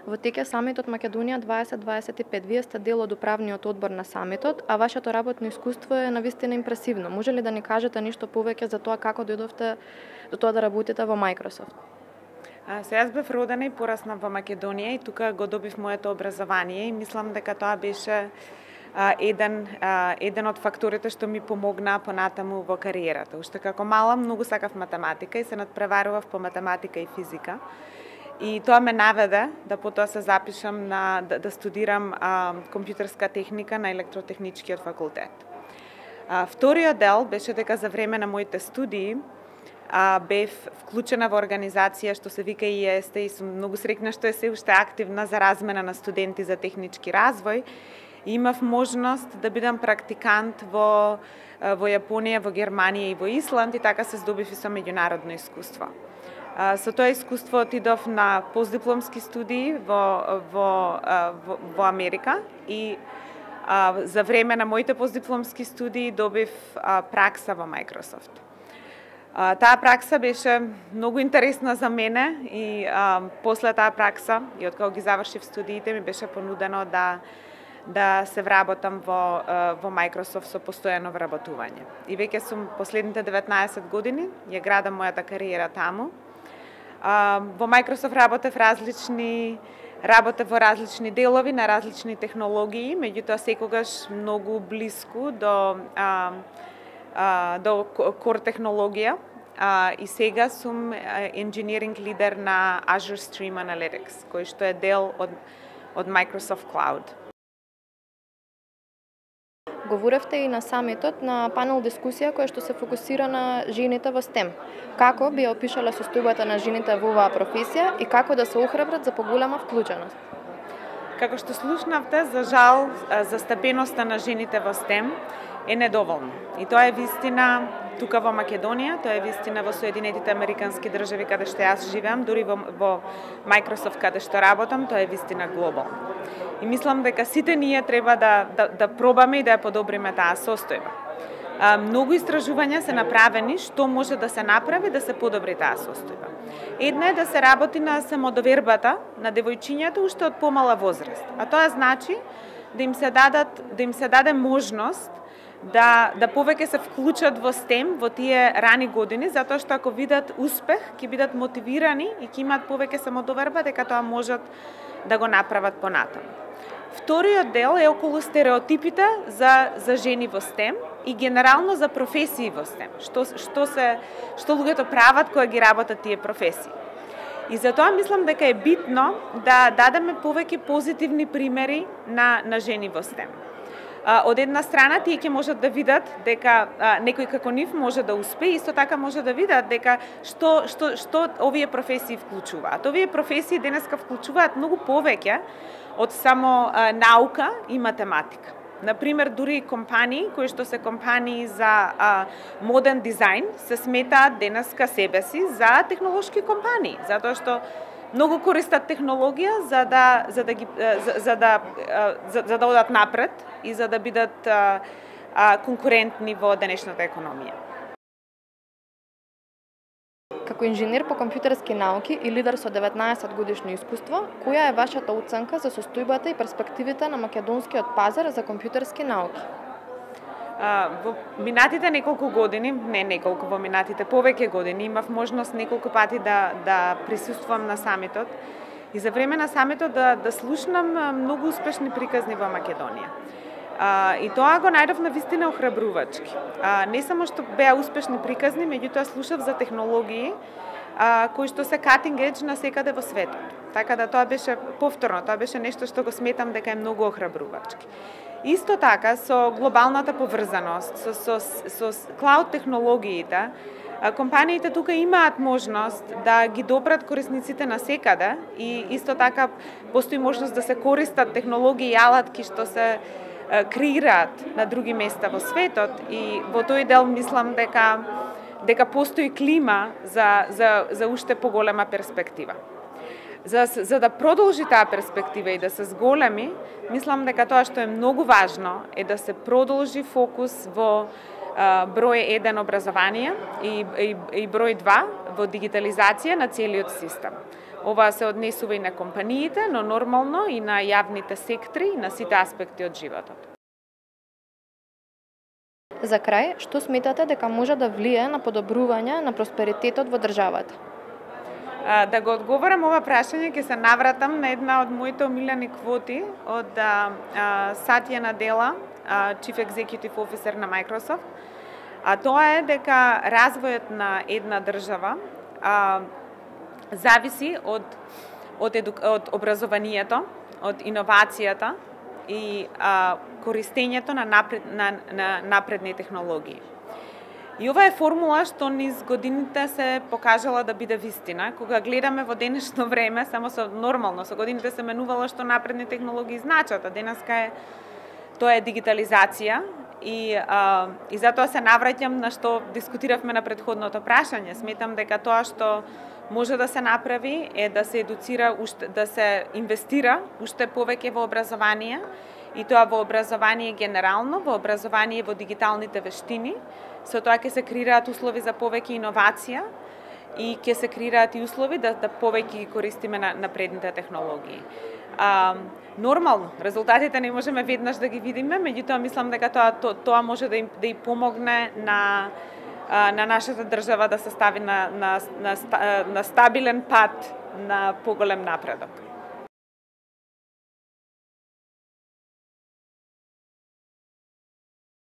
Во тек е самитот Македонија 2025. Вие сте дел од управниот одбор на самитот, а вашето работно искуство е навистина импресивно. Може ли да ни кажете нешто повеќе за тоа како дојдовте до тоа да работите во Microsoft? Јас бев родена и порасна во Македонија и тука го добив моето образование и мислам дека тоа беше еден од факторите што ми помогна понатаму во кариерата. Уште како мала многу сакав математика и се надпреварував по математика и физика. И тоа ме наведе да потоа се запишам да студирам компјутерска техника на електротехничкиот факултет. Вториот дел беше дека за време на моите студии бев вклучена во организација што се вика ИЕСТ и сум многу среќна што е се уште активна за размена на студенти за технички развој. И имав можност да бидам практикант во Јапонија, во Германија и во Исланд и така се здобив и со меѓународно искуство. Со тоа искуство отидов на постдипломски студии во Америка и за време на моите постдипломски студии добив пракса во Microsoft. Таа пракса беше многу интересна за мене и после таа пракса и откако ги завршив студиите ми беше понудено да се вработам во Microsoft со постојано вработување. И веќе сум последните 19 години ја градам мојата кариера таму. Во Microsoft работев во различни делови на различни технологии, меѓутоа секогаш многу блиску до core технологија. И сега сум engineering лидер на Azure Stream Analytics, кој што е дел од Microsoft Cloud. Говоревте и на самитот на панел дискусија која што се фокусира на жените во STEM. Како би опишале состојбата на жените во оваа професија и како да се охрабрат за поголема вклученост? Како што слушнавте, за жал, застапеноста на жените во STEM е недоволно. И тоа е вистина тука во Македонија, тоа е вистина во Соединетите Американски држави каде што јас живеам, дури во Microsoft каде што работам, тоа е вистина глобално. И мислам дека сите ние треба да пробаме и да ја подобриме таа состојба. Многу истражувања се направени што може да се направи да се подобри таа состојба. Една е да се работи на самодовербата на девојчињата уште од помала возраст. А тоа значи да им се даде можност да повеќе се вклучат во STEM во тие рани години, затоа што ако видат успех, ќе бидат мотивирани и ќе имаат повеќе самодоверба дека тоа можат да го направат понатаму. Вториот дел е околу стереотипите за жени во STEM и генерално за професии во STEM. Што луѓето прават кога ги работат тие професии. И затоа мислам дека е битно да дадеме повеќе позитивни примери на жени во STEM. Од една страна тие ќе можат да видат дека некој како нив може да успее, исто така може да видат дека што овие професии вклучуваат. Овие професии денеска вклучуваат многу повеќе од само наука и математика. Например, дури компании кои што се компании за моден дизајн се сметаат денеска себеси за технолошки компании, затоа што многу користат технологија за да одат напред и за да бидат конкурентни во денешната економија. Како инженер по компјутерски науки и лидер со 19 годишно искуство, која е вашата оценка за состојбата и перспективите на македонскиот пазар за компјутерски науки? Во минатите неколку години, во минатите повеќе години, имав можност неколку пати да присуствувам на самитот и за време на самитот да слушнам многу успешни приказни во Македонија. И тоа го најдов на вистина охрабрувачки. Не само што беа успешни приказни, меѓутоа слушав за технологии кои што се cutting edge на секаде во светот. Така да тоа беше повторно, тоа беше нешто што го сметам дека е многу охрабрувачки. Исто така, со глобалната поврзаност, со клауд технологиите, компаниите тука имаат можност да ги добрат корисниците на секаде и исто така постои можност да се користат технологии и алатки што се креираат на други места во светот и во тој дел мислам дека постои клима за уште поголема перспектива. За да продолжи таа перспектива и да се зголеми, мислам дека тоа што е многу важно е да се продолжи фокус во број 1 образование и број 2 во дигитализација на целиот систем. Ова се однесува и на компаниите, но нормално и на јавните сектори, и на сите аспекти од животот. За крај, што сметате дека може да влие на подобрување на просперитетот во државата? Да го одговорам ова прашање, ќе се навратам на една од моите омилени квоти од Сатја Надела, Chief Executive Officer на Microsoft. А тоа е дека развојот на една држава зависи од образованието, од иновацијата и користењето на напредни технологии. И ова е формула што низ годините се покажала да биде вистина. Кога гледаме во денешно време, само нормално, со годините се менувало што напредни технологии значат, а денеска тоа е дигитализација и затоа се навраќам на што дискутиравме на претходното прашање. Сметам дека тоа што може да се направи е да се едуцира, да се инвестира уште повеќе во образование, и тоа во образование генерално, во образование во дигиталните вештини. Со тоа ќе се креираат услови за повеќе иновација и ќе се креираат и услови да повеќе ги користиме на напредните технологии. Нормално, резултатите не можеме веднаш да ги видиме, меѓутоа мислам дека тоа може да и помогне на нашата држава да се стави на стабилен пат на поголем напредок.